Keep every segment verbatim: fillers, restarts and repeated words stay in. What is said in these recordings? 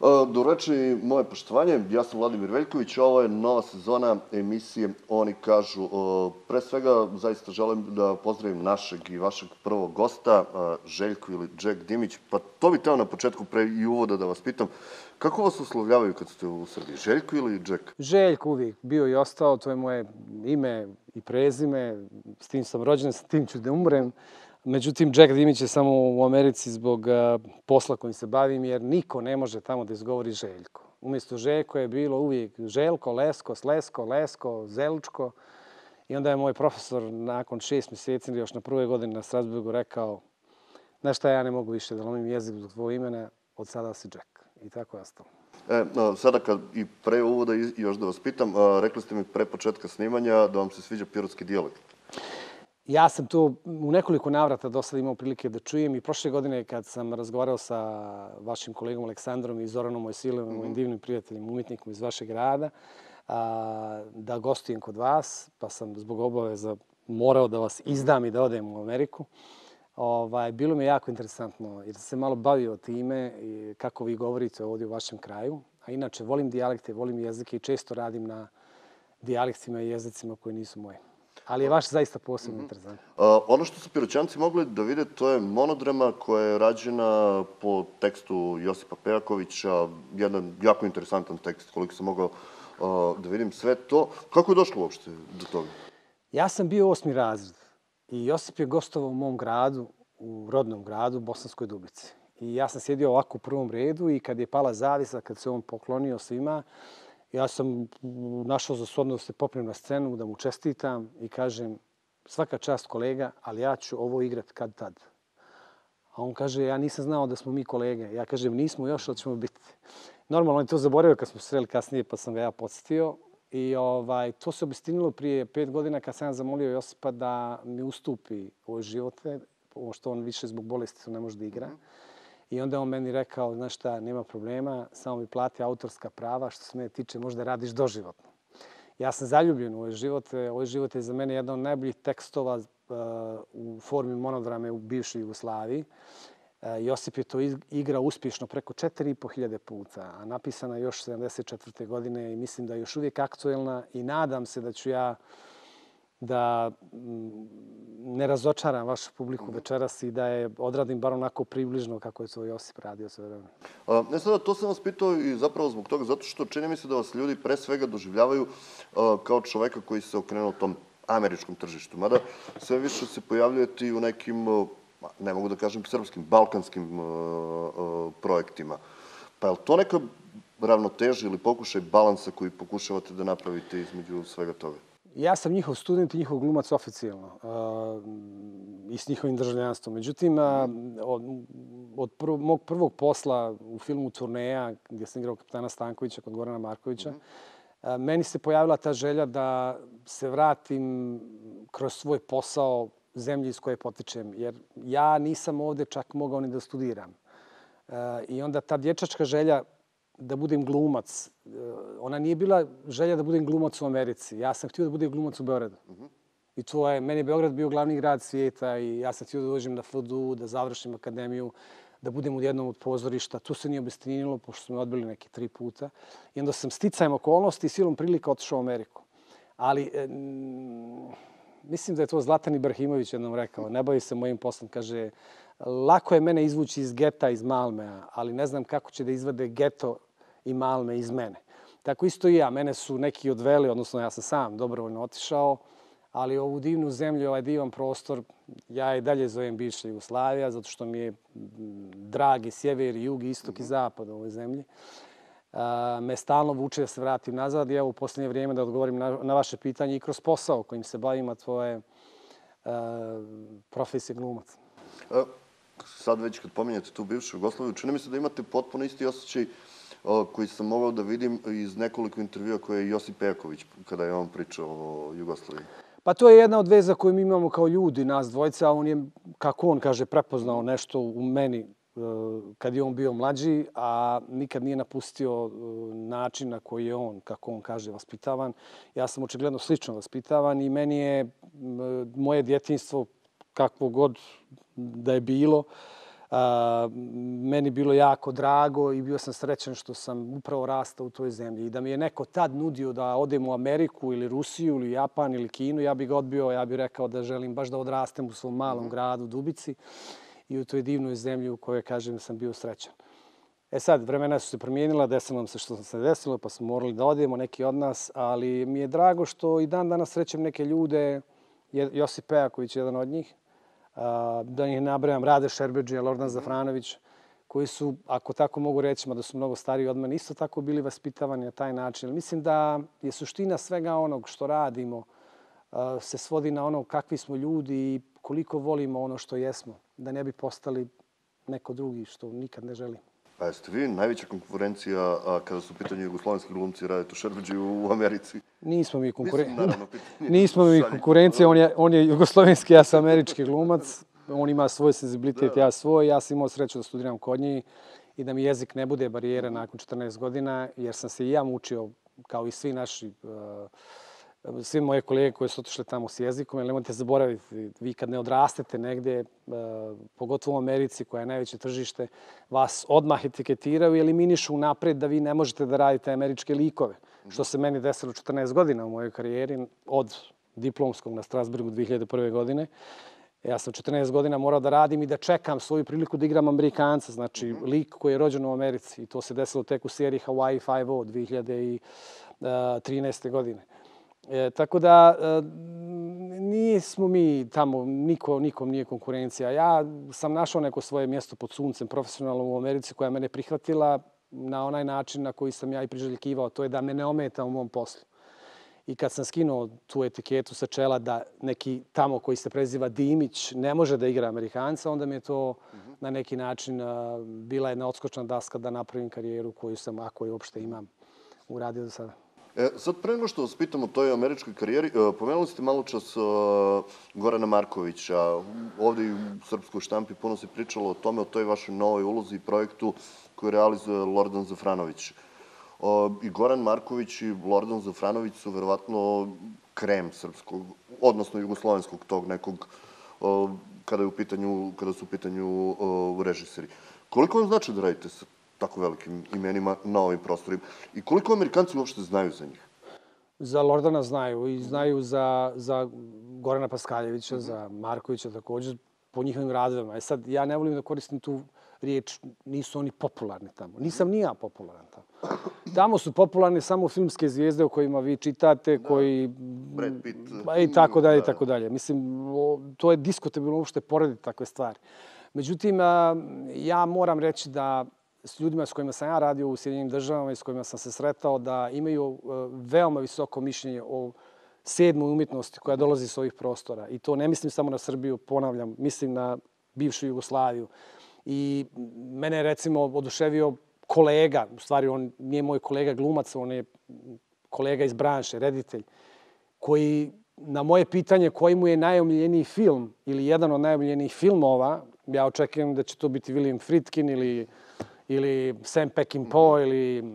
Dobroveče i moje poštovanje. Ja sam Vladimir Veljković, ovo je nova sezona emisije Oni kažu. Pre svega, zaista želim da pozdravim našeg i vašeg prvog gosta, Željko ili Jack Dimić. Pa to bih teo na početku pre i uvoda da vas pitam. Kako vas uslovljavaju kad ste u Srbiji? Željko ili Jack? Željko uvijek bio i ostao, to je moje ime i prezime. S tim sam rođen, s tim ću da umrem. Međutim, Jack Dimić je samo u Americi zbog posla kojim se bavim, jer niko ne može tamo da izgovori Željko. Umjesto Željko je bilo uvijek Željko, Lesko, Slesko, Lesko, Zelčko. I onda je moj profesor nakon šest mjeseci, još na prvoj godini na Strasburgu, rekao: znaš šta, ja ne mogu više da lomim jezik zbog tvojeg imena, od sada si Jack. I tako je ostalo. E, sada kad i pre uvoda još da vas pitam, rekli ste mi pre početka snimanja da vam se sviđa pirotski dijalekt. Ja sam to u nekoliko navrata do sada imao prilike da čujem i prošle godine kad sam razgovarao sa vašim kolegom Aleksandrom i Zoranom Mojsilovom, mojim divnim prijateljem, umjetnikom iz vašeg grada, da gostujem kod vas, pa sam zbog obaveza morao da vas izdam i da odem u Ameriku. Bilo mi je jako interesantno jer sam se malo bavio time kako vi govorite ovdje u vašem kraju. A inače, volim dijalekte, volim jezike i često radim na dijalektima i jezicima koji nisu moji. Ali je vaš zaista posebno interesantno. Ono što su Piroćanci mogli da vide, to je monodrama koja je rađena po tekstu Josipa Pejakovića. Jedan jako interesantan tekst, koliko sam mogao da vidim sve to. Kako je došlo uopšte do toga? Ja sam bio osmi razred i Josip je gostovao u mom gradu, u rodnom gradu, Bosanskoj Dubici. I ja sam sjedio ovako u prvom redu i kad je pala zavisa, kad se on poklonio svima, ja sam našao za shodno da se popnem na scenu, da mu čestitam i kažem: svaka čast kolega, ali ja ću ovo igrat kad tad. A on kaže: ja nisam znao da smo mi kolege. Ja kažem: nismo još, ali ćemo biti. Normalno, on je to zaboravio kad smo se sreli kasnije, pa sam ga ja podsjetio. I to se obistinilo prije pet godina kad sam ja zamolio Josipa da mi ustupi ove živote, što on više zbog bolesti ne može da igra. I onda on meni rekao: znaš šta, nema problema, samo mi plati autorska prava, što se mene tiče možda radiš doživotno. Ja sam zaljubljen u ove živote. Ovaj život je za mene jedan od najboljih tekstova u formi monodrame u bivšoj Jugoslaviji. Josip je to igrao uspješno preko četiri i po hiljade puta, a napisana još sedamdeset četvrte godine i mislim da je još uvijek aktuelna i nadam se da ću ja da ne razočaram vašu publiku večeras i da je odradim bar onako približno kako je to Josip radio sve vreme. Ne sada, to sam vas pitao i zapravo zbog toga, zato što čini mi se da vas ljudi pre svega doživljavaju kao čoveka koji se okrenuo tom američkom tržištu. Mada sve više se pojavljujete i u nekim, ne mogu da kažem srpskim, balkanskim projektima. Pa je li to neka ravnoteža ili pokušaj balansa koji pokušavate da napravite između svega toga? Ja sam njihov student i njihov glumac oficijalno i s njihovim državljanstvom. Međutim, od mog prvog posla u filmu Turneja, gdje sam igrao kapitana Stankovića kod Gorana Markovića, meni se pojavila ta želja da se vratim kroz svoj posao zemlji iz koje potičem. Jer ja nisam ovdje čak mogao ni da studiram. I onda ta dječačka želja da budem glumac. Ona nije bila želja da budem glumac u Americi. Ja sam htio da budem glumac u Beogradu. I to je, meni je Beograd bio glavni grad svijeta i ja sam htio da dođem na F D U, da završim akademiju, da budem u jednom od pozorišta. Tu se nije obistinilo, pošto su me odbili neki tri puta. I onda sam sticajem okolnosti i silom prilika otišao u Ameriku. Ali mislim da je to Zlatan Ibrahimović jednom rekao. Ne bavi se mojim poslom. Kaže: lako je mene izvući iz geta, iz Malmea, ali ne znam kako će da izvade geto i Malme iz mene. Tako isto i ja. Mene su neki odveli, odnosno ja sam sam dobrovoljno otišao, ali ovu divnu zemlju, ovaj divan prostor, ja i dalje zovem bivša Jugoslavija, zato što mi je dragi sjever, jug, istok i zapad u ovoj zemlji. Me stalno vuče da se vratim nazad i evo u posljednje vrijeme da odgovorim na vaše pitanje i kroz posao kojim se bavim, a tvoje profesije glumac. Sad već kad pominjate tu bivšu Jugoslaviju, čini mi se da imate potpuno isti osjećaj koji sam mogao da vidim iz nekoliko intervjua koje je Josip Pejaković kada je on pričao o Jugoslaviji. Pa to je jedna od veza koju mi imamo kao ljudi, nas dvojica, a on je, kako on kaže, prepoznao nešto u meni kad je on bio mlađi, a nikad nije napustio način na koji je on, kako on kaže, vaspitavan. Ja sam očigledno slično vaspitavan i meni je moje djetinjstvo, kakvo god da je bilo, Meni bilo jako drago i bio sam srećan što sam upravo rastao u toj zemlji. I da mi je neko tad nudio da odem u Ameriku ili Rusiju ili Japan ili Kinu, ja bih ga odbio, ja bih rekao da želim baš da odrastem u svom malom gradu Dubici i u toj divnoj zemlji u kojoj, kažem, sam bio srećan. E sad, vremena su se promijenila, desilo nam se što se desilo, pa smo morali da odemo, neki od nas, ali mi je drago što i dan danas srećem neke ljude, Josip Pejaković je jedan od njih, da ih nabrajam, Rade Šerbedžija, Lordan Zafranović, koji su, ako tako mogu reći, da su mnogo stariji od mene, isto tako bili vaspitavani na taj način. Mislim da je suština svega onog što radimo se svodi na ono kakvi smo ljudi i koliko volimo ono što jesmo, da ne bi postali neko drugi, što nikad ne želim. A jeste vi najveća konkurencija kada su u pitanju jugoslovenski glumci Radetu Šerbedžiju u Americi? Nismo mi konkurencija. Nismo mi konkurencija, on je jugoslovenski, ja sam američki glumac. On ima svoj senzibilitet, ja svoj. Ja sam imao sreću da studiram kod njih i da mi jezik ne bude barijera nakon četrnaest godina, jer sam se i ja mučio, kao i svi naši, svi moje kolege koji su otišli tamo s jezikom, jer nemojte zaboraviti, vi kad ne odrastete negde, pogotovo u Americi koja je najveće tržište, vas odmah etiketiraju i eliminišu napred da vi ne možete da radite američke likove. Što se meni desilo četrnaest godina u mojoj karijeri, od diplomskog na Strasburgu dve hiljade prve. godine. Ja sam četrnaest godina morao da radim i da čekam svoju priliku da igram Amerikanca, znači lik koji je rođen u Americi. I to se desilo tek u seriji Hawaii Five-O dve hiljade trinaeste. godine. E, tako da e, nismo mi tamo, niko, nikom nije konkurencija. Ja sam našao neko svoje mjesto pod suncem profesionalno u Americi koja me ne prihvatila na onaj način na koji sam ja i priželjkivao. To je da me ne ometa u mom poslu. I kad sam skinuo tu etiketu sa čela da neki tamo koji se preziva Dimić ne može da igra Amerikanca, onda mi je to na neki način uh, bila jedna odskočna daska da napravim karijeru koju sam, ako je uopšte imam, uradio do sada. E, sad, pre nego što vas pitam o toj američkoj karijeri, pomenuli ste malo čas Gorana Markovića. Ovde i u srpskoj štampi puno se pričalo o tome, o toj vašoj novoj ulozi i projektu koju realizuje Lordan Zafranović. I Goran Marković i Lordan Zafranović su verovatno krem srpskog, odnosno jugoslovenskog tog nekog, kada, je u pitanju, kada su u pitanju režiseri. Koliko vam znači da radite sa tako velikim imenima na ovim prostorima? I koliko Amerikanci uopšte znaju za njih? Za Lordana znaju i znaju za, za Gorana Paskaljevića, mm-hmm. za Markovića također, po njihovim radovima. E sad, ja ne volim da koristim tu riječ, nisu oni popularni tamo. Nisam ni ja popularan tamo. Tamo su popularne samo filmske zvijezde o kojima vi čitate, da. koji... Brad Pitt. I tako dalje, i tako dalje. Mislim, to je diskutabilno uopšte porediti takve stvari. Međutim, ja moram reći da s ljudima s kojima sam ja radio u Sjedinjenim državama i s kojima sam se sretao, da imaju veoma visoko mišljenje o sedmoj umjetnosti koja dolazi s ovih prostora. I to ne mislim samo na Srbiju, ponavljam, mislim na bivšu Jugoslaviju. I mene je, recimo, oduševio kolega, u stvari on nije moj kolega glumac, on je kolega iz branše, reditelj, koji na moje pitanje koji mu je najomiljeniji film ili jedan od najomiljenijih filmova, ja očekujem da će to biti William Friedkin ili ili Sam Peckinpah ili uh,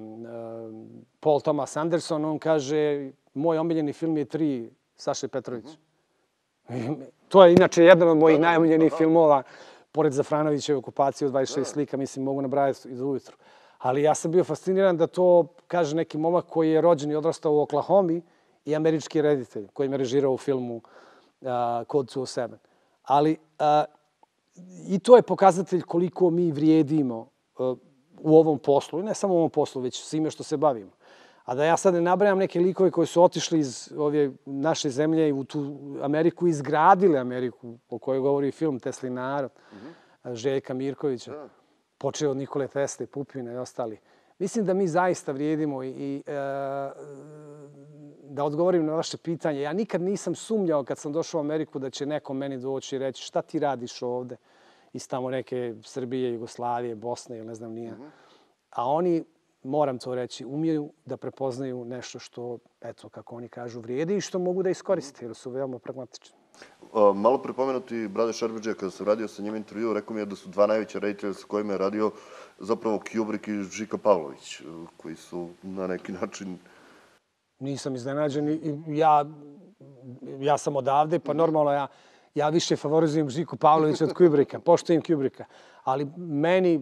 Paul Thomas Anderson, on kaže, moj omiljeni film je Tri, Saše Petrović. Mm-hmm. To je inače jedan od mojih najomiljenijih filmova, pored Zafranovićeve okupacije od dvadeset šest slika, mislim, mogu nabrajati iz ujutru. Ali ja sam bio fasciniran da to kaže neki momak koji je rođen i odrastao u Oklahomi i američki reditelj koji me režirao u filmu uh, Code dvjesto sedam. Ali uh, i to je pokazatelj koliko mi vrijedimo u ovom poslu, i ne samo u ovom poslu, već svime što se bavimo. A da ja sad ne nabrajam neke likove koji su otišli iz ove naše zemlje i u tu Ameriku, izgradili Ameriku, o kojoj govori film Teslin narod, mm-hmm. Željka Mirkovića, da. Počeo od Nikole Tesle, Pupina i ostali. Mislim da mi zaista vrijedimo i, i e, da odgovorim na vaše pitanje. Ja nikad nisam sumnjao kad sam došao u Ameriku da će neko meni doći i reći šta ti radiš ovde iz tamo neke Srbije, Jugoslavije, Bosne ili ne znam nije. Mm-hmm. A oni, moram to reći, umiju da prepoznaju nešto što, eto, kako oni kažu, vrijedi i što mogu da iskoriste, jer su veoma pragmatični. Uh, malo prepomenuti Brade Šerbedžija, kada sam radio sa njim intervju, rekao mi je da su dva najveća reditelja sa kojima je radio zapravo Kubrick i Žika Pavlović, koji su na neki način... Nisam iznenađen. Ja, ja sam odavde, pa normalno ja... Ja više favorizujem Žiku Pavlovića od Kubricka, poštujem Kubricka. Ali meni,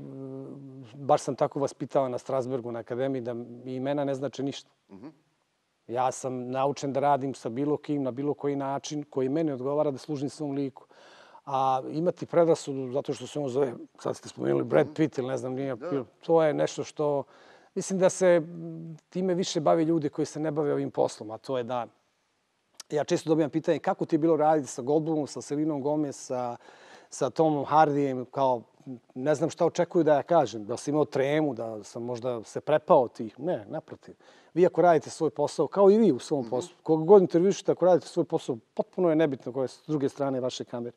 baš sam tako vaspitao na Strasburgu, na akademiji, da mi imena ne znače ništa. Ja sam naučen da radim sa bilo kim, na bilo koji način, koji meni odgovara da služim svom liku. A imati predrasudu zato što se on zove, sad ste spomenuli Brad Pitt ili ne znam, nije, to je nešto što, mislim da se time više bavi ljudi koji se ne bave ovim poslom, a to je da, ja često dobijam pitanje kako ti je bilo raditi sa Goldblumom, sa Selenom Gomez, sa, sa Tomom Hardyjem, kao ne znam šta očekuju da ja kažem, da sam imao tremu, da sam možda se prepao tih. Ne, naprotiv. Vi ako radite svoj posao, kao i vi u svom poslu, koga god intervjušite, ako radite svoj posao, potpuno je nebitno koje s druge strane vaše kamere.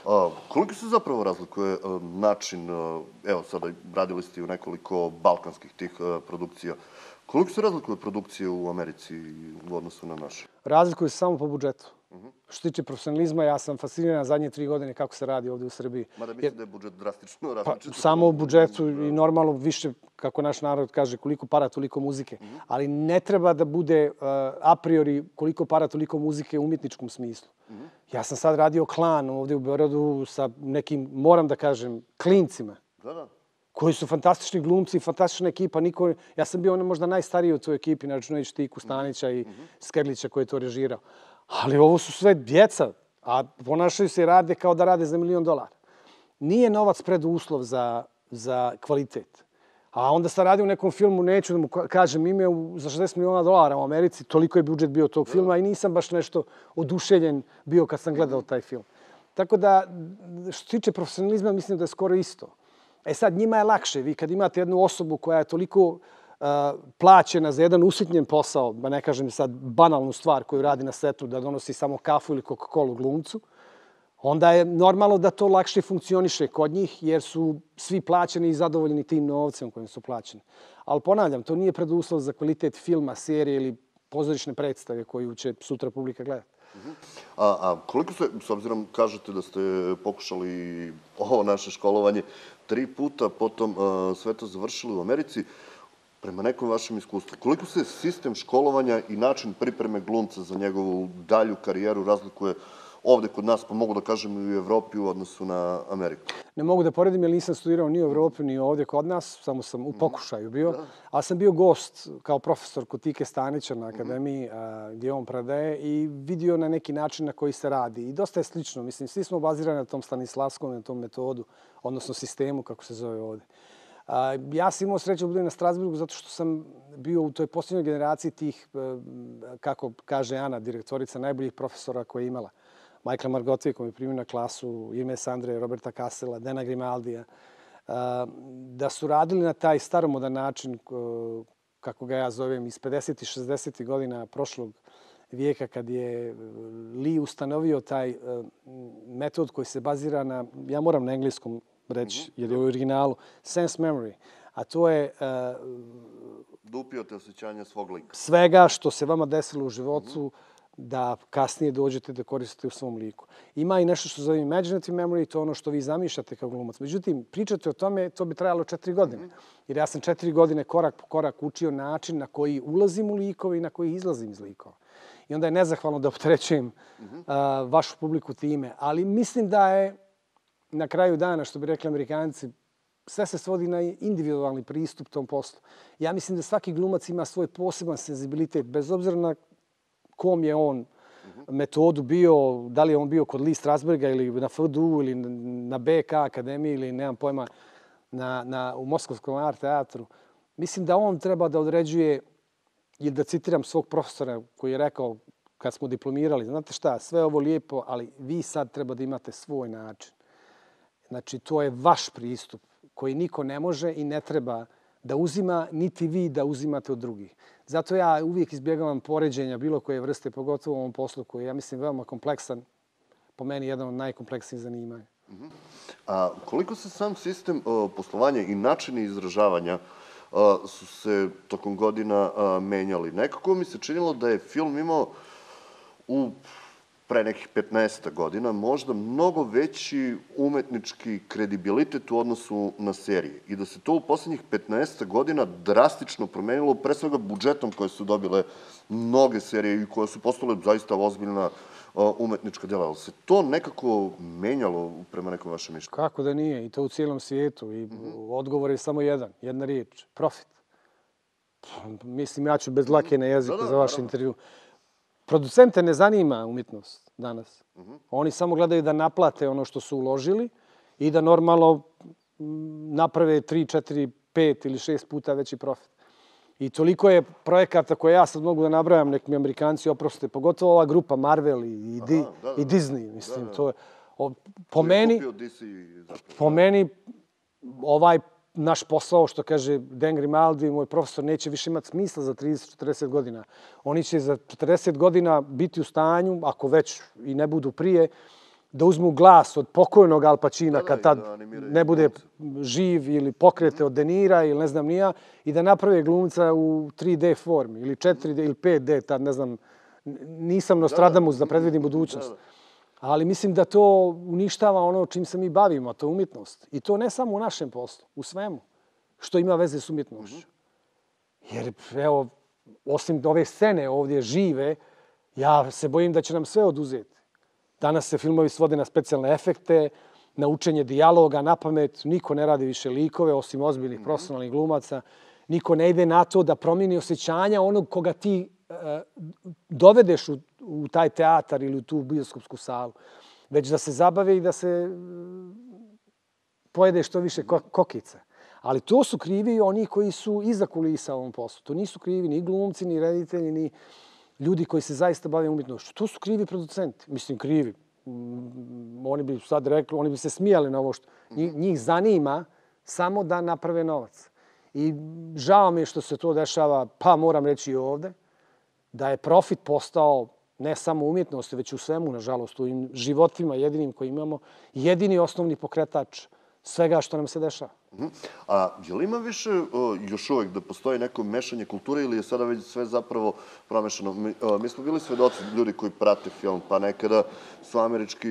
A, koliko se zapravo razlikuje a, način, a, evo sada radili ste u nekoliko balkanskih tih a, produkcija, koliko se razlikuje produkcije u Americi u odnosu na naše? Razlikuje se samo po budžetu. Što se tiče profesionalizma, ja sam fasciniran zadnje tri godine kako se radi ovdje u Srbiji. Mada mislim da je budžet drastično Pa, različit. samo u budžetu i normalno više, kako naš narod kaže, koliko para, toliko muzike. Ali ne treba da bude uh, a priori koliko para, toliko muzike u umjetničkom smislu. Ja sam sad radio Klan ovdje u Beogradu sa nekim, moram da kažem, klincima. Da, da. Koji su fantastični glumci, fantastična ekipa. Niko, ja sam bio možda najstariji u toj ekipi, računajući Tiku Stanića i Skerlića koji je to režirao. Ali ovo su sve djeca, a ponašaju se i rade kao da rade za milion dolara. Nije novac preduslov za, za kvalitet. A onda sam radio u nekom filmu, neću da mu kažem ime, za šezdeset miliona dolara u Americi, toliko je budžet bio tog filma i nisam baš nešto oduševljen bio kad sam gledao taj film. Tako da, što se tiče profesionalizma, mislim da je skoro isto. E sad, njima je lakše. Vi kad imate jednu osobu koja je toliko uh, plaćena za jedan usitnjen posao, da ne kažem sad banalnu stvar koju radi na setu, da donosi samo kafu ili Coca-Cola glumcu, onda je normalno da to lakše funkcioniše kod njih, jer su svi plaćeni i zadovoljni tim novcem kojim su plaćeni. Ali ponavljam, to nije preduslov za kvalitet filma, serije ili pozorišne predstave koju će sutra publika gledati. A, a koliko se, s obzirom kažete da ste pokušali ovo naše školovanje tri puta, potom a, sve to završili u Americi, prema nekom vašem iskustvu, koliko se sistem školovanja i način pripreme glumca za njegovu dalju karijeru razlikuje ovde kod nas, pa mogu da kažem i u Evropi u odnosu na Ameriku? Ne mogu da poredim jer nisam studirao ni u Evropi ni ovdje kod nas, samo sam u pokušaju bio. Ali sam bio gost kao profesor kod Tike Stanića na akademiji gdje on predaje i vidio na neki način na koji se radi. I dosta je slično. Mislim, svi smo bazirani na tom Stanislavskom, na tom metodu, odnosno sistemu, kako se zove ovdje. Ja sam imao sreću da budem na Strasburgu zato što sam bio u toj posljednjoj generaciji tih, kako kaže Ana, direktorica, najboljih profesora koje je imala. Michaela Margotvija koji je primio na klasu, Ines Andre, Roberta Kassela, Dena Grimaldija, da su radili na taj staromodan način, kako ga ja zovem, iz pedesetih i šezdesetih godina prošlog vijeka, kad je Lee ustanovio taj metod koji se bazira na, ja moram na engleskom reći, jer je u originalu, sense memory, a to je da upijate osjećanje svog lika. Svega što se vama desilo u životu, da kasnije dođete da koristite u svom liku. Ima i nešto što zove imaginative memory, to je ono što vi zamišljate kao glumac. Međutim, pričate o tome, to bi trajalo četiri godine. Jer ja sam četiri godine korak po korak učio način na koji ulazim u likove i na koji izlazim iz likova. I onda je nezahvalno da opterećujem uh, vašu publiku time. Ali mislim da je na kraju dana, što bi rekli Amerikanci, sve se svodi na individualni pristup tom poslu. Ja mislim da svaki glumac ima svoj poseban senzibilitet, bez obzira na kom je on metodu bio, da li je on bio kod Lee Strasberga ili na F D U ili na B K akademiji ili nemam pojma na, na, u Moskovskom art teatru. Mislim da on treba da određuje, ili da citiram svog profesora koji je rekao kad smo diplomirali, znate šta, sve ovo lijepo, ali vi sad treba da imate svoj način. Znači, to je vaš pristup koji niko ne može i ne treba da uzima, niti vi da uzimate od drugih. Zato ja uvijek izbjegavam poređenja bilo koje vrste, pogotovo u ovom poslu koji je, ja mislim, veoma kompleksan, po meni jedan od najkompleksnijih zanimanja. A koliko se sam sistem poslovanja i načini izražavanja su se tokom godina menjali? Nekako mi se činilo da je film imao u pre nekih petnaest godina možda mnogo veći umetnički kredibilitet u odnosu na serije i da se to u poslednjih petnaest godina drastično promenilo, pre svega budžetom koje su dobile mnoge serije i koje su postale zaista ozbiljna umetnička dela. Ali se to nekako menjalo prema nekom vašem mišljenju? Kako da nije? I to u cijelom svijetu. I odgovor je samo jedan, jedna riječ. Profit. Mislim, ja ću bez lake na jeziku za vaš intervju. Producente ne zanima umjetnost danas. Oni samo gledaju da naplate ono što su uložili i da normalno naprave tri, četiri, pet ili šest puta veći profit. I toliko je projekata koje ja sad mogu da nabrajam, nek mi Amerikanci oproste, pogotovo ova grupa Marvel i Disney. Mislim, to je... Po meni, po meni, ovaj naš posao, što kaže Dan Grimaldi, moj profesor, neće više imati smisla za trideset do četrdeset godina. Oni će za četrdeset godina biti u stanju, ako već i ne budu prije, da uzmu glas od pokojnog Al Pacina kad tad ne bude živ ili pokrete od De Nira ili ne znam nija i da naprave glumca u tri D formi ili četiri D ili pet D, tad ne znam, nisam Nostradamus da predvidim budućnost. Ali mislim da to uništava ono čim se mi bavimo, to je umjetnost. I to ne samo u našem poslu, u svemu što ima veze s umjetnošću. Jer, evo, osim ove scene ovdje žive, ja se bojim da će nam sve oduzeti. Danas se filmovi svode na specijalne efekte, na učenje dijaloga, na pamet. Niko ne radi više likove, osim ozbiljnih profesionalnih glumaca. Niko ne ide na to da promijeni osjećanja onog koga ti dovedeš u, u taj teatar ili u tu bioskopsku salu, već da se zabave i da se pojede što više kokica. Ali to su krivi oni koji su iza kulisa u ovom poslu. To nisu krivi ni glumci, ni reditelji, ni ljudi koji se zaista bave umjetnošću. To su krivi producenti. Mislim, krivi. Oni bi sad rekli, oni bi se smijali na ovo što... Njih zanima samo da naprave novac. I žao mi je što se to dešava, pa moram reći i ovde, da je profit postao ne samo umjetnosti, već u svemu, nažalost, u životima jedinim koji imamo, jedini osnovni pokretač svega što nam se dešava. A je li ima više još uvek da postoji neko mešanje kulture ili je sada već sve zapravo promešano? Mi smo bili svedoci ljudi koji prate film, pa nekada su američki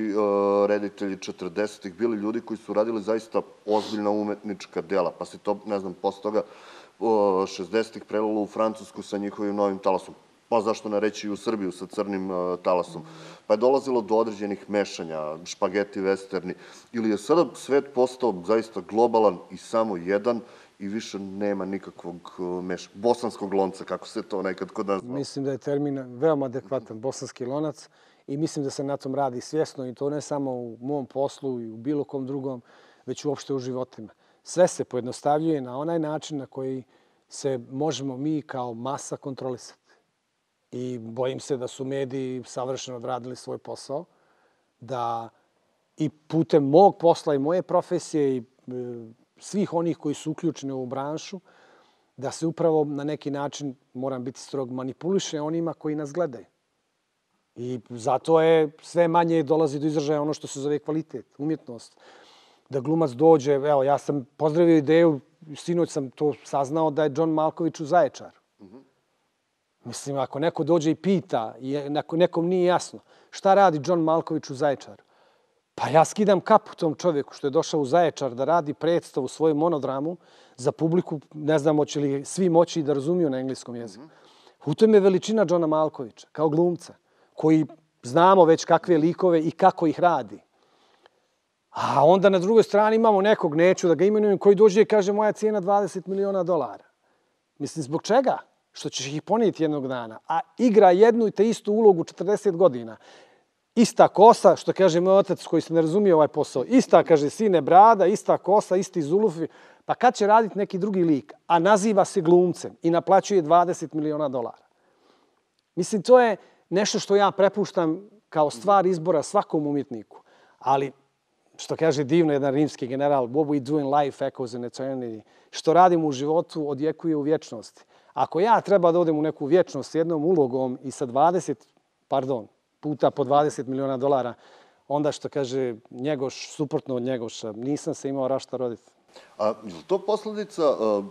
reditelji četrdesetih bili ljudi koji su radili zaista ozbiljna umetnička dela, pa se to, ne znam, posle toga šezdesetih prelilo u Francusku sa njihovim novim talasom. Pa zašto ne reći i u Srbiju sa crnim talasom. Pa je dolazilo do određenih mešanja, špageti, westerni. Ili je sada svet postao zaista globalan i samo jedan i više nema nikakvog mešanja. Bosanskog lonca, kako se to nekad kod nas zvao. Mislim da je termin veoma adekvatan, bosanski lonac. I mislim da se na tom radi svjesno i to ne samo u mom poslu i u bilo kom drugom, već uopšte u životima. Sve se pojednostavljuje na onaj način na koji se možemo mi kao masa kontrolisati. I bojim se da su mediji savršeno odradili svoj posao, da i putem mog posla i moje profesije i svih onih koji su uključeni u ovu branšu, da se upravo na neki način, moram biti strog, manipuliše onima koji nas gledaju. I zato je sve manje dolazi do izražaja ono što se zove kvalitet, umjetnost. Da glumac dođe, evo, ja sam pozdravio ideju, sinoć sam to saznao da je John Malković u Zaječaru. Mislim, ako neko dođe i pita, i nekom nije jasno, šta radi John Malković u Zaječaru? Pa ja skidam kapu tom čovjeku što je došao u Zaječar da radi predstavu, svoju monodramu za publiku, ne znam hoće li svi moći da razumiju na engleskom jeziku. U tom je veličina Johna Malkovića, kao glumca, koji znamo već kakve likove i kako ih radi. A onda na drugoj strani imamo nekog, neću da ga imenujem, koji dođe i kaže moja cijena dvadeset miliona dolara. Mislim, zbog čega? Što ćeš ih ponijeti jednog dana, a igra jednu i te istu ulogu četrdeset godina. Ista kosa, što kaže moj otac koji se ne razumije ovaj posao, ista, kaže, sine brada, ista kosa, isti zulufi, pa kad će raditi neki drugi lik, a naziva se glumcem i naplaćuje dvadeset miliona dolara. Mislim, to je nešto što ja prepuštam kao stvar izbora svakom umjetniku. Ali, što kaže divno jedan rimski general, what we do in life echoes in eternity. Što radimo u životu odjekuje u vječnosti. Ako ja treba da odem u neku vječnost s jednom ulogom i sa dvadeset, pardon, puta po dvadeset miliona dolara, onda što kaže Njegoš, suprotno od Njegoša, nisam se imao rašta roditi. A je li to posledica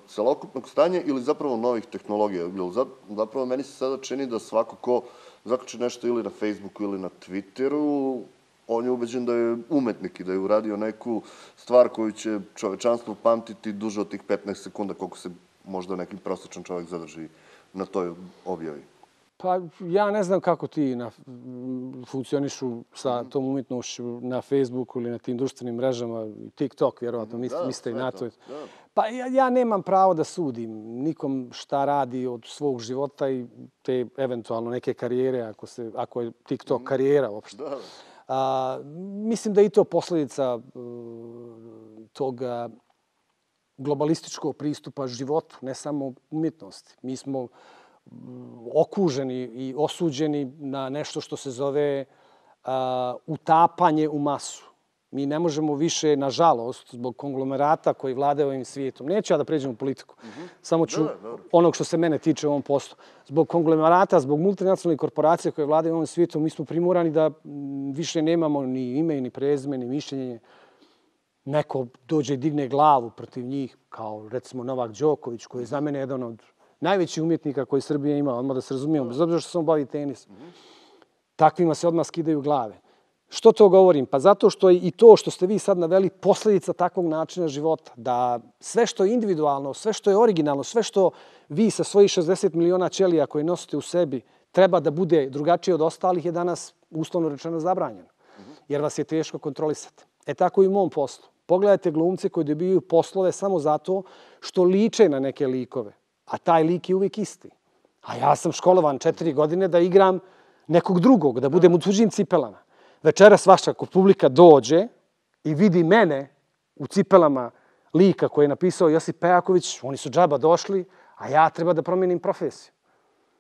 celokupnog stanja ili zapravo novih tehnologija? Zapravo meni se sada čini da svako ko zakači nešto ili na Facebooku ili na Twitteru, on je ubeđen da je umetnik i da je uradio neku stvar koju će čovečanstvo pamtiti duže od tih petnaest sekunda koliko se možda neki prosječan čovjek zadrži na toj objavi. Pa ja ne znam kako ti na, funkcionišu sa tom umjetnošću na Facebooku ili na tim društvenim mrežama, TikTok, vjerovatno, misli, da, mislite i na to. Da. Pa ja, ja nemam pravo da sudim nikom šta radi od svog života i te eventualno neke karijere, ako, se, ako je TikTok karijera uopšte. Da. A, mislim da je i to posljedica uh, toga globalističkog pristupa životu, ne samo umjetnosti. Mi smo okuženi i osuđeni na nešto što se zove uh, utapanje u masu. Mi ne možemo više, nažalost, zbog konglomerata koji vladaju ovim svijetom. Neću ja da pređem u politiku. Mm-hmm. Samo ću da, da. onog što se mene tiče u ovom poslu. Zbog konglomerata, zbog multinacionalnih korporacija koje vladaju ovim svijetom, mi smo primorani da više nemamo ni ime, ni prezime, ni mišljenje. Neko dođe i digne glavu protiv njih, kao recimo Novak Đoković, koji je za mene jedan od najvećih umjetnika koji Srbija ima, odmah da se razumijemo, bez obzira što se on bavi tenisom. Takvima se odmah skidaju glave. Što to govorim? Pa zato što je i to što ste vi sad naveli posljedica takvog načina života. Da sve što je individualno, sve što je originalno, sve što vi sa svojih šezdeset miliona ćelija koje nosite u sebi treba da bude drugačije od ostalih je danas uslovno rečeno zabranjeno. Jer vas je teško kontrolisati. E tako i u mom poslu. Pogledajte glumce koji dobijaju poslove samo zato što liče na neke likove. A taj lik je uvijek isti. A ja sam školovan četiri godine da igram nekog drugog, da budem u tuđim cipelama. Večeras vaša publika dođe i vidi mene u cipelama lika koji je napisao Josip Pejaković, oni su džaba došli, a ja treba da promijenim profesiju.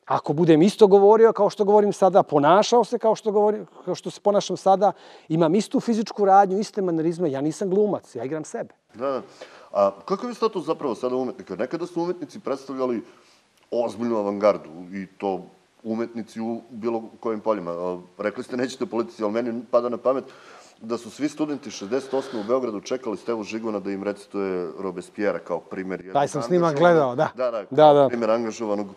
Ako budem isto govorio kao što govorim sada, ponašao se kao što, govorim, kao što se ponašam sada, imam istu fizičku radnju, iste manerizme, ja nisam glumac, ja igram sebe. Da, da. A kakav je status zapravo sada umetnika? Nekada su umetnici predstavljali ozbiljnu avangardu i to umetnici u bilo kojim poljima. Rekli ste nećete politici, ali meni pada na pamet da su svi studenti šezdeset osme u Beogradu čekali Stevu Žiguna da im recituje Robespierre kao primjer. Taj sam snimak gledao, da. Da, da, da, da. primjer angažovanog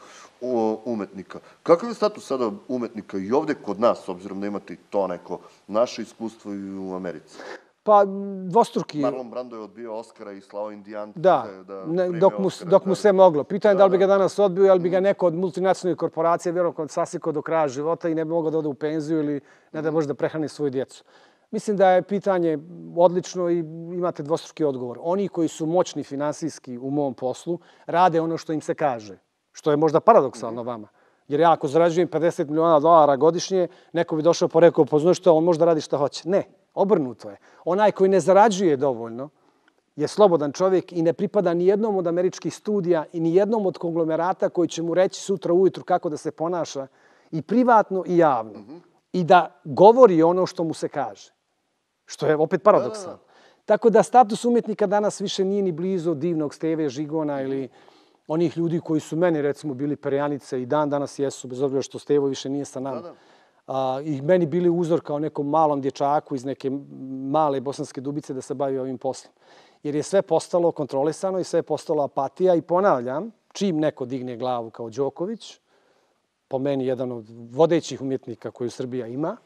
umetnika. Kakav je status sada umetnika i ovdje kod nas, s obzirom da imate to neko naše iskustvo i u Americi? Pa, dvostruki. Marlon Brando je odbio Oscara i slao Indijance da, da ne, dok, mu, dok mu se moglo. Pitanje da, da li bi ga danas odbio, ali bi ga neko od multinacionalnih korporacija vjerojatno sasiko do kraja života i ne bi mogao da ode u penziju ili ne da može da prehrani svoju djecu. Mislim da je pitanje odlično i imate dvostruki odgovor. Oni koji su moćni finansijski u mom poslu rade ono što im se kaže, što je možda paradoksalno vama. Jer ja ako zarađujem pedeset miliona dolara godišnje, neko bi došao pa rekao, pa znaš što, on možda radi šta hoće. Ne, obrnuto je. Onaj koji ne zarađuje dovoljno je slobodan čovjek i ne pripada ni jednom od američkih studija i ni jednom od konglomerata koji će mu reći sutra ujutru kako da se ponaša i privatno i javno. Mm-hmm. I da govori ono što mu se kaže. Što je opet paradoksalno. Tako da status umjetnika danas više nije ni blizu divnog Steve Žigona ili onih ljudi koji su meni, recimo, bili perjanice i dan danas jesu, bez obzira što Stevo više nije sa nama. Da, da. A, i meni bili uzor kao nekom malom dječaku iz neke male Bosanske Dubice da se bavi ovim poslom. Jer je sve postalo kontrolisano i sve je postalo apatija i ponavljam, čim neko digne glavu kao Đoković, po meni jedan od vodećih umjetnika koju Srbija ima,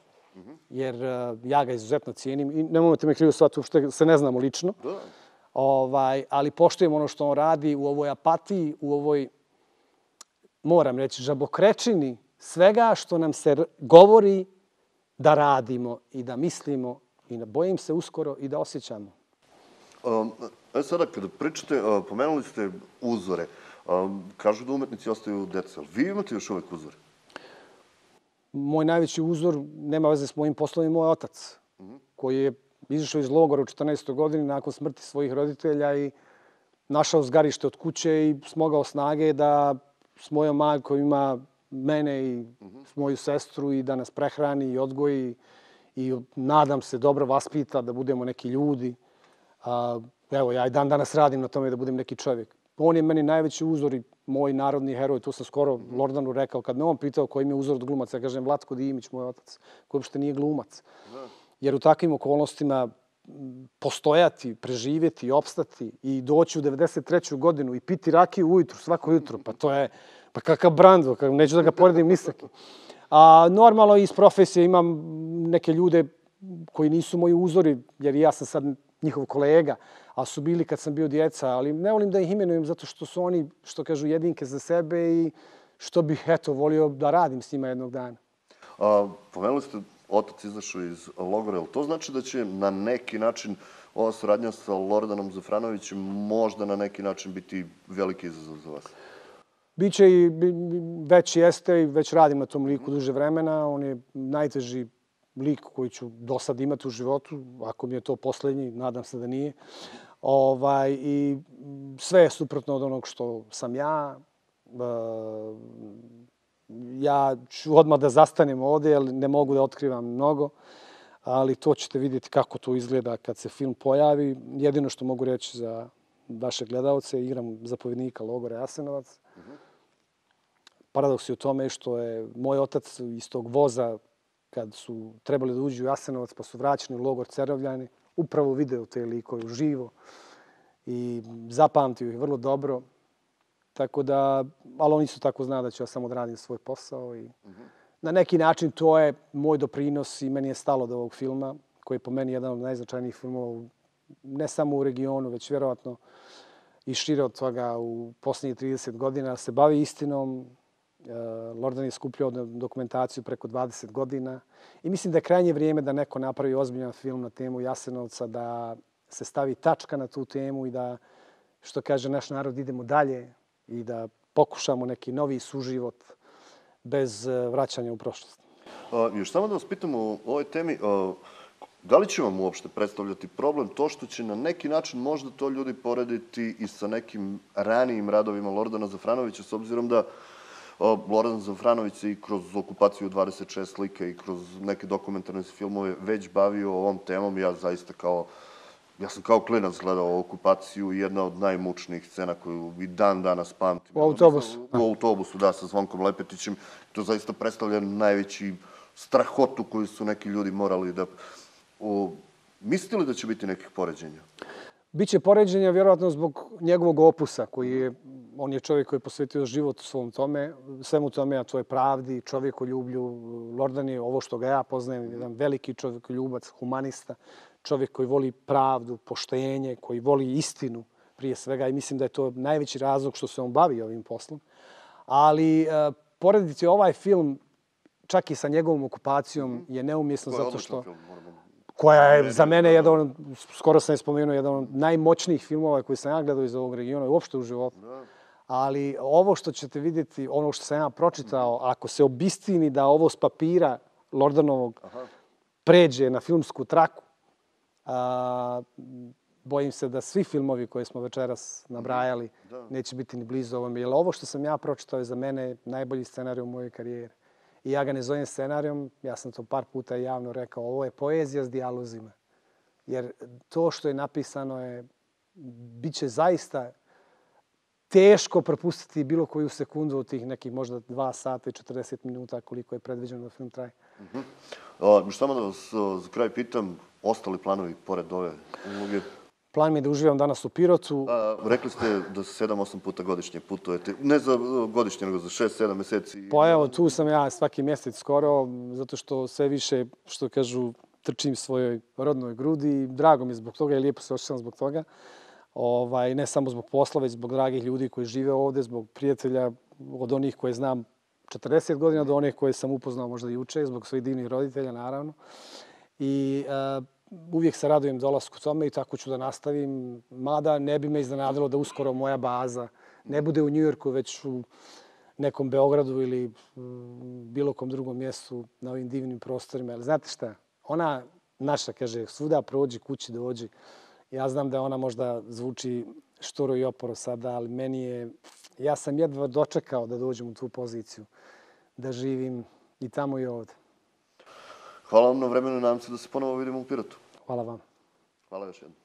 jer uh, ja ga izuzetno cijenim i nemojte me krivo shvatiti, uopšte se ne znamo lično, da. Ovaj, ali poštujem ono što on radi u ovoj apatiji, u ovoj, moram reći, žabokrečini svega što nam se govori da radimo i da mislimo i da bojim se uskoro i da osjećamo. Um, e sada, kada pričate, uh, pomenuli ste uzore. Um, kažu da umetnici ostaju deca. Vi imate još uvek uzore? Moj najveći uzor nema veze s mojim poslom, je moj otac, mm-hmm. koji je izašao iz logora u četrnaestoj godini nakon smrti svojih roditelja i našao zgarište od kuće i smogao snage da s mojom majkom ima mene i mm-hmm. moju sestru i da nas prehrani i odgoji i nadam se dobro vaspita da budemo neki ljudi. A, evo, ja i dan danas radim na tome da budem neki čovjek. On je meni najveći uzor i moj narodni heroj. To sam skoro Lordanu rekao. Kad me on pitao koji mi je uzor od glumaca, ja kažem Vlatko Dimić, moj otac, koji uopšte nije glumac. Jer u takvim okolnostima postojati, preživjeti, opstati i doći u devedeset treću godinu i piti rakiju ujutru, svako jutro, pa to je, pa kakav Brando, neću da ga poredim ni sa kim. A normalno iz profesije imam neke ljude koji nisu moji uzori, jer ja sam sad njihov kolega, a su bili kad sam bio djeca, ali ne volim da ih imenujem zato što su oni, što kažu, jedinke za sebe i što bih, eto, volio da radim s njima jednog dana. A, pomenuli ste, otac izašao iz logora, jel to znači da će na neki način ova saradnja sa Lordanom Zafranovićem možda na neki način biti veliki izazov za vas? Biće i već jeste i već radim na tom liku duže vremena. On je najteži lik koji ću do sad imati u životu, ako mi je to poslednji, nadam se da nije. Ovaj, I sve je suprotno od onog što sam ja. Ja ću odmah da zastanem ovde, jer ne mogu da otkrivam mnogo, ali to ćete vidjeti kako to izgleda kad se film pojavi. Jedino što mogu reći za vaše gledalce, igram zapovjednika logora Jasenovac. Paradoks je u tome što je moj otac iz tog voza, kad su trebali da uđu u Jasenovac pa su vraćeni u logor Cerovljani, upravo video te likove uživo i zapamtio ih vrlo dobro. Tako da, ali on isto tako zna da ću ja samo odradim svoj posao i na neki način to je moj doprinos i meni je stalo do ovog filma, koji je po meni jedan od najznačajnijih filmova, ne samo u regionu, već vjerovatno i šire od toga u posljednjih trideset godina. Se bavi istinom. Lordan je skupljao dokumentaciju preko dvadeset godina i mislim da je krajnje vrijeme da neko napravi ozbiljan film na temu Jasenovca, da se stavi tačka na tu temu i da, što kaže naš narod, idemo dalje i da pokušamo neki novi suživot bez vraćanja u prošlost. A, još samo da vas pitam o ovoj temi, a, da li će vam uopšte predstavljati problem to što će na neki način možda to ljudi porediti i sa nekim ranijim radovima Lordana Zafranovića, s obzirom da Lordan Zafranović se i kroz okupaciju dvadeset šest slika i kroz neke dokumentarne filmove već bavio ovom temom. Ja zaista kao, ja sam kao klinac gledao okupaciju i jedna od najmučnijih scena koju i dan danas pamtim. U autobusu. U autobusu, da, sa Zvonkom Lepetićem. To zaista predstavlja najveći strahotu koju su neki ljudi morali da... O, mislite li da će biti nekih poređenja? Biće poređenja vjerovatno zbog njegovog opusa, koji je, on je čovjek koji je posvetio život svom tome, svemu tome, a to je pravdi, čovjekoljublju. Lordan je, ovo što ga ja poznajem, jedan veliki čovjekoljubac, humanista, čovjek koji voli pravdu, poštenje, koji voli istinu prije svega i mislim da je to najveći razlog što se on bavi ovim poslom. Ali e, porediti ovaj film čak i sa njegovom okupacijom je neumjesno zato što... koja je za mene jedan, skoro sam je spomenuo, jedan od najmoćnijih filmova koji sam ja gledao iz ovog regiona i uopšte u životu. Ali ovo što ćete vidjeti, ono što sam ja pročitao, ako se obistini da ovo s papira Lordanovog pređe na filmsku traku, a, bojim se da svi filmovi koje smo večeras nabrajali neće biti ni blizu ovome. Jer ovo što sam ja pročitao je za mene najbolji scenarij u mojoj karijeri. I ja ga ne zovem scenarijom, ja sam to par puta javno rekao, ovo je poezija s dijalozima. Jer to što je napisano je, bit će zaista teško propustiti bilo koju sekundu od tih nekih možda dva sata i četrdeset minuta koliko je predviđeno da film traje. Uh-huh. Uh, samo da vas uh, za kraj pitam, ostali planovi pored ove uloge? Plan mi je da uživam danas u Pirotu. A, rekli ste da sedam osam puta godišnje putujete. Ne za godišnje, nego za šest sedam meseci. Pa evo, tu sam ja svaki mjesec skoro, zato što sve više, što kažu, trčim svojoj rodnoj grudi i drago mi je zbog toga i lijepo se osjećam zbog toga. Ovaj, ne samo zbog posla, već zbog dragih ljudi koji žive ovdje, zbog prijatelja, od onih koje znam četrdeset godina do onih koje sam upoznao možda i juče, zbog svojih divnih roditelja, naravno. I uh, uvijek se radujem dolasku tome i tako ću da nastavim. Mada ne bi me iznenadilo da uskoro moja baza ne bude u Njujorku, već u nekom Beogradu ili bilo kom drugom mjestu na ovim divnim prostorima. Ali znate šta? Ona naša, kaže, svuda prođi, kući dođi. Ja znam da ona možda zvuči šturo i oporo sada, ali meni je... Ja sam jedva dočekao da dođem u tu poziciju, da živim i tamo i ovdje. Hvala vam na vremenu i nadam se da se ponovo vidimo u Pirotu. Hvala vam. Hvala još jednom.